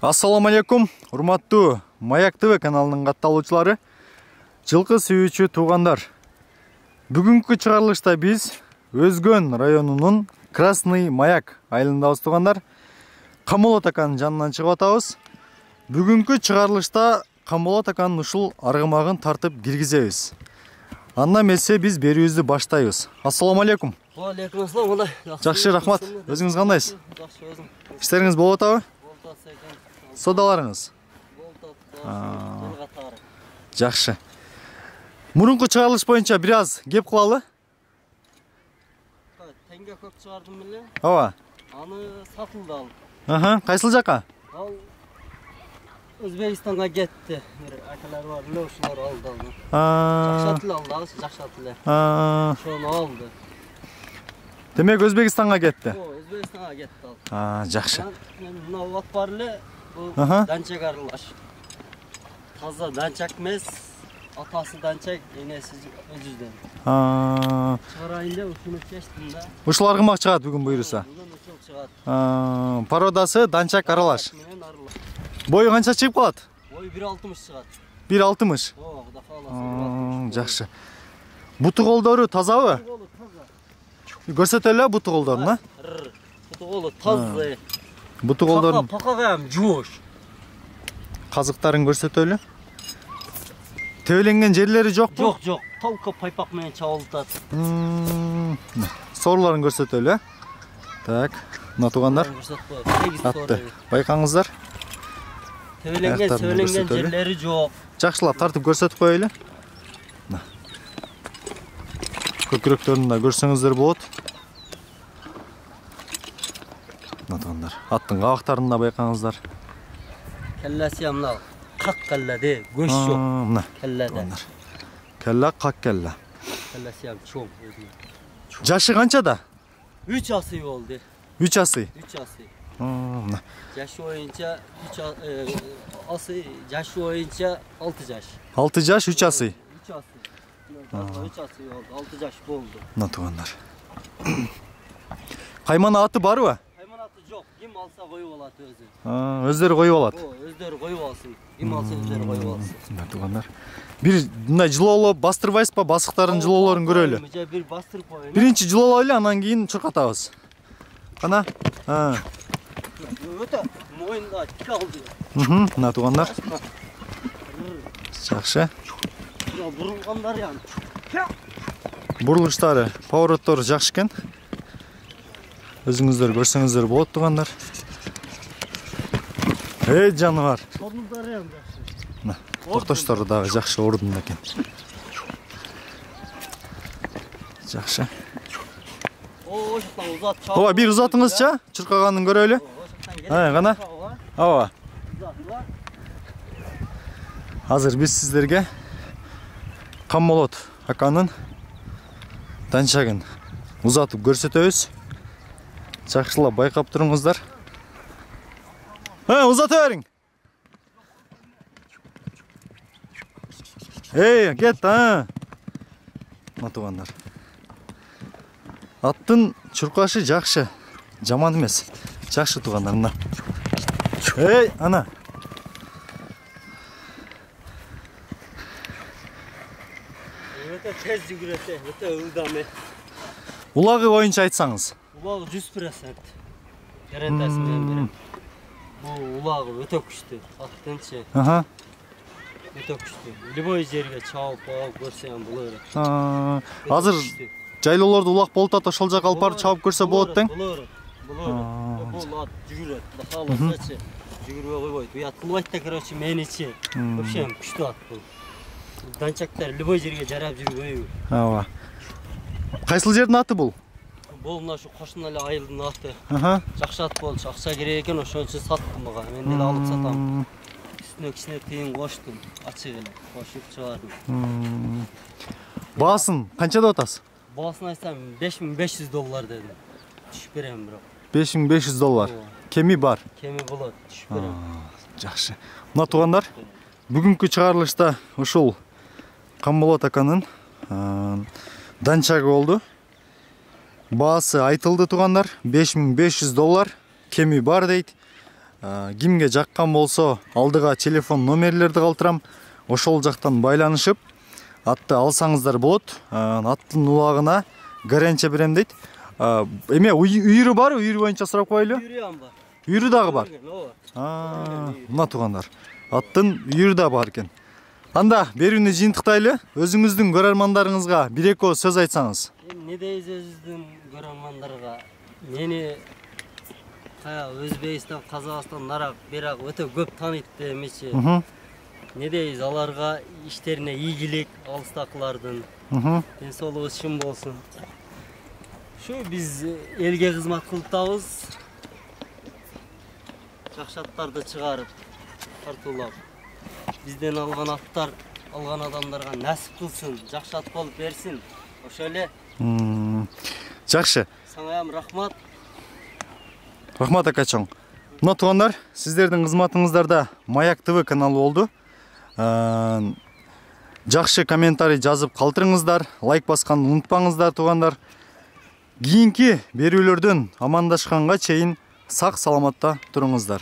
Ассаламу алейкум, урматтуу Маяк ТВ каналынын катталуучулары, жылкы сүйүүчү туугандар. Бүгүнкү чыгарылышта биз Өзгөн районунун Красный Маяк айылындабыз туугандар. Камболот аканын жанынан чыгып атабыз. Бүгүнкү чыгарылышта Камболот аканын ушул аргымагын тартып киргизебиз. Андан эмесе биз берүүбүздү баштайбыз. Ассаламу алейкум. Алейкум ассалам. Жакшы, рахмат. Өзүңүз кандайсыз? Жакшы, өзүм. Иштериңиз болуп атабы? Болуп атса экен. Содаларыңыз? Болуп атса. Катары. Жакшы. Мурунку чыгарылыш боюнча бир аз кеп кылалы. Теңге көк чыгардым беле. Ооба. Аны сатылды ал. Кайсыл жака? Ал Өзбекстанга кетти. Бир акалар бар, эле ушулар алды аны. Жакшы тил алды, жакшы тил. Ошону алды. Демек Өзбекстанга кетти. Өзбекстанга кетти ал. Жакшы. Мен мына убак бар эле. Бул данчак аралаш. Таза данчак эмес. Атасы данчак, энеси өзүздөн. Чыгарайын деп ушуну чечтим да. Ушул аргымак чыгат бүгүн буйруса. Бүгүн ушул чыгат. Породасы данчак аралаш. Бою канча чыгып калат? Бою 1.60 чыгат. 1.60. Кудай кааласа. Жакшы. Буту колдору тазабы? Таза. Көрсөтөлү буту колдорун, Буту колу таза. Буту колдорун. Пакагам жоош. Казыктарын көрсөтөлү. Тебеленген жерлери жокпу? Жок, жок. Толко пайпак менен чабылтат. Сорларын көрсөтөлү. Так, мына туугандар. Атты. Байкаңыздар. Тебеленген жерлери жок. Жакшылап тартып көрсөтүп коелу. Көкүрөктөрүн да көрсөңүздөр болот. Мына туугандар. Аттын кабактарын да байкаңыздар. Келлеси мына как келледе, көз жок. Мына Келледе. Келла как келла. Келлеси чоң. Жашы канчада? 3 асый болду. 3 асый. 3 асый. Мына. Жашы боюнча 3 асый, жашы боюнча 6 жаш. 6 жаш, 3 асый. 3 асый. 3 асый болду, 6 жаш болду. Мына туугандар. Кайман аты барбы? Кайман аты жок. Ким алса коюп алат өзү. Өздөрү коюп алат. Өздөрү коюп алсын. Ким алса өздөрү коюп алсын. Мына туугандар. Бир мындай жылоолоп бастырбайсызбы? Басыктарын жылоолорун көрөлү. Бир бастырып коеюн. Биринчи жылоолойлу, анан кийин чуркатабыз. Кана? Өтө моюнда тик алды. Мына туугандар. Жакшы. Бурулгандар ян. Бурулуштары, повороттору жакшы экен. Өзүңүздөр көрсөңүздөр болот туугандар. Жаныбар. Ордундар ян жакшы. Мына токтоштору дагы жакшы ордунда экен. Жакшы. Ошоктон узат чабып. Ооба, бир узатыңызчы, чуркаганын көрөлү. Кана? Ооба. Азыр биз сиздерге Камболот аканын данчагын узатып көрсөтөбүз. Жакшылап байкап туруңуздар. Узата бериң. Кет, Мына туугандар. Аттын чуркашы жакшы, жаман эмес. Жакшы туугандар, мына. Ана. Өтө тез жүгүрөт, өтө ылдам. Улагы боюнча айтсаңыз. Улагы 100%. Гарантиясы менен берем. Бул улагы өтө күчтүү. Аттынчы. Өтө күчтүү. Любой жерге чабып көрсөм болот. Азыр жайлоолордо улак болуп атат, ошол жака алып барып чабып көрсө болот тең. Болот. Бул ат жүгүрөт. Кааласачы жүгүрбөй койбойт. Уят кылбайт да, короче, меничи. Вообще күчтүү ат бул. Данчактар любой жерге жарап жүрбөйбү. Ооба. Кайсыл жердин аты бул? Бул мына ушу кошуна эле айылдын аты. Жакшы ат болчу, акча керек экен, ошон үчүн саттым мага. Мен деле алып сатам. Үстүнө кичине тыйын коштум, ачык эле, кошуп чыгардым. Баасын канча деп атасыз? Баасын айтсам $5500 дедим. Түшүп берем бирок. $5500. Кеми бар. Кеми болот, түшүп берем. Жакшы. Мына туугандар, бүгүнкү чыгарылышта ушул Камболот аканын данчагы болду. Баасы айтылды туугандар, $5500. Кеми бар дейт. кимге жаккан болсо алдыга телефон номерлерди калтырам. Ошол жактан байланышып атты алсаңыздар болот. Аттын улагына гарантия берем дейт. Эме үйүрү бар, үйүрү боюнча сурап коелу. Үйүрү бар. Үйүрү дагы бар. Мына туугандар. Аттын үйүрү да бар экен. Анда берүүнү жыйынтыктайлы. Өзүңүздүн көрөрмандарыңызга бир-эки сөз айтсаңыз. Не дейбиз өзүбүздүн көрөрмандарга? Мени Өзбекстан, Казакстан, Нарак, Бирак өтө көп тааныйт демечи. Не дейбиз, аларга иштерине ийгилик, алыстакылардын. Ден соолугу чын болсун. Şu biz elge kızmat kılıp dağız. Жақшаттарды чыгарып, тартуулап. Бизден алган аттар, алган адамдарга насип кылсын, жакшат болуп берсин. Ошо эле. Жакшы. Саңа рахмат. Рахмат акачоң. Мына туугандар, сиздердин кызматыңыздарда Маяк ТВ каналы болду. Жакшы комментарий жазып калтырыңыздар, лайк басканды унутпаңыздар туугандар. Кийинки берүүлөрдөн амандашканга чейин сак саламатта туруңуздар.